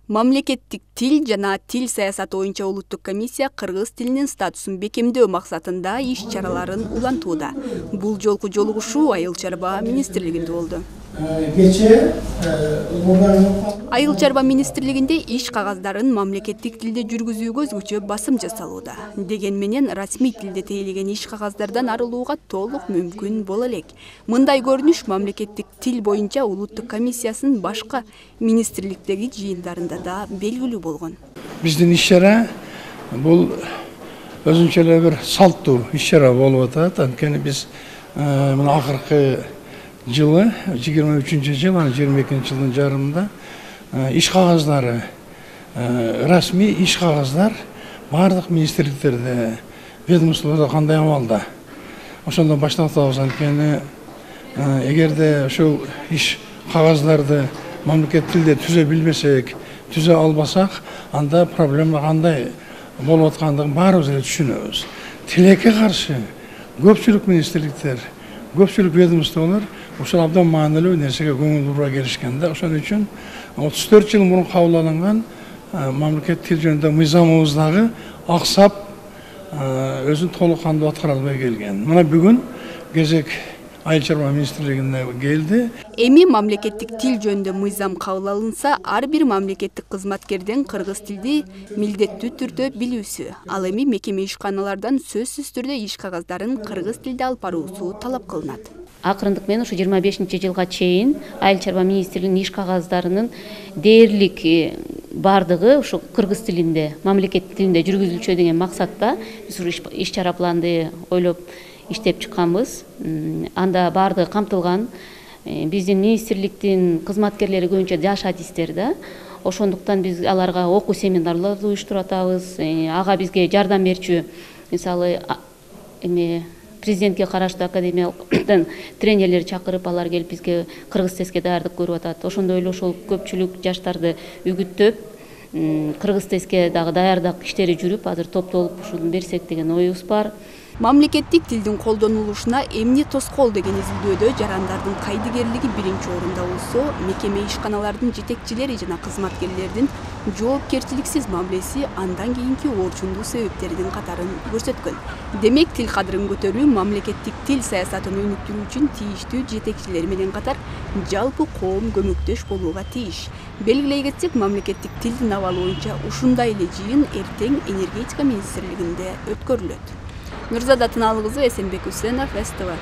Мамлекеттик тил жана тил саясаты боюнча улуттук комиссия кыргыз тилинин статусун бекемдөө максатында иш-чараларын улантууда. Бул жолку жолугушуу Айыл чарба министрлигинде болду. Айыл чарба министрлигинде иш кагаздарын мамлекеттик тилде жүргүзүүгө өзгөчө басым жасалууда. Деген менен расмий тилде тейлеген иш кагаздардан арылууга толук мүмкүн боло элек. Мындай көрүнүш мамлекеттик тил боюнча улуттук комиссиясынын башка министрликтеги жыйындарында да белгилүү болгон. Биздин иш-чара бул өзүнчө эле бир салттуу иш-чара болуп атат. Анткени биз мына акыркы жылы 23-жыл, 22-жылдын жарымында иш кагаздары, расмий иш кагаздар бардык министрликтерде, ведомствода кандай абалда. Ошондон баштап анткени эгерде ошол иш кагаздарды мамлекеттик тилде түзө билбесек, түзө албасак, анда проблема кандай болуп аткандыгын баарыбыз эле түшүнөбүз. Тилекке каршы көпчүлүк министрликтер, көпчүлүк ведомстволор ушул абдан маанилүү нерсеге көңүл бура келишкен да. Ошон үчүн 34 жыл мурун кабыл алынган мамлекеттик тил жөнүндө мыйзамыбыздагы аксап өзүн толук кандуу аткара албай келген. Мына бүгүн кезек Айыл чарба министрлигине келди. Эми мамлекеттик тил жөнүндө мыйзам кабыл алынса, ар бир мамлекеттик кызматкерден кыргыз тилди милдеттүү түрдө билүүсү, ал эми мекеме ишканалардан сөзсүз түрдө иш кагаздарын кыргыз тилде алып баруусу талап кылынат. Акырындык менен ушу 25-жылга чейин Айыл чарба министрлигинин иш кагаздарынын дээрлик бардыгы ушу кыргыз тилинде, мамлекеттик тилинде жүргүзүлчү деген максатта биз иш чара планды ойлоп иштеп чыкканбыз. Анда бардыгы камтылган. Биздин министрликтин кызматкерлери көбүнчө жаш адистер да. Ошондуктан биз аларга окуу семинарларды уюштуруп атабыз. Ага бизге жардам берчү, мисалы президентке караштуу академиядан тренерлер чакырып, алар келип бизге кыргыз тестке даярдык көрүп атат. Ошондой эле ошол көпчүлүк жаштарды үгүттөп, кыргыз тестке дагы даярдык иштери жүрүп, азыр топтолуп ушуну берсек деген оюбуз бар. Мамлекеттик тилдин колдонулушуна эмне тоскоол деген изилдөөдө жарандардын кайдыгерлиги биринчи орунда болсо, мекеме ишканалардын жетекчилери жана кызматкерлердин жоопкерчиликсиз мамилеси андан кийинки орчундуу себептердин катарын көрсөткөн. Демек, тил кадырын көтөрүү мамлекеттик тил саясатын өнүктүрүү үчүн тийиштүү жетекчилер менен катар жалпы коом көмөктөш болууга тийиш. Белгилей кетсек, мамлекеттик тилдин абалы боюнча ушундай эле жыйын эртең энергетика министрлигинде өткөрүлөт. Нурзада Тыналык кызы, Эсенбек Үсенов, СТВ.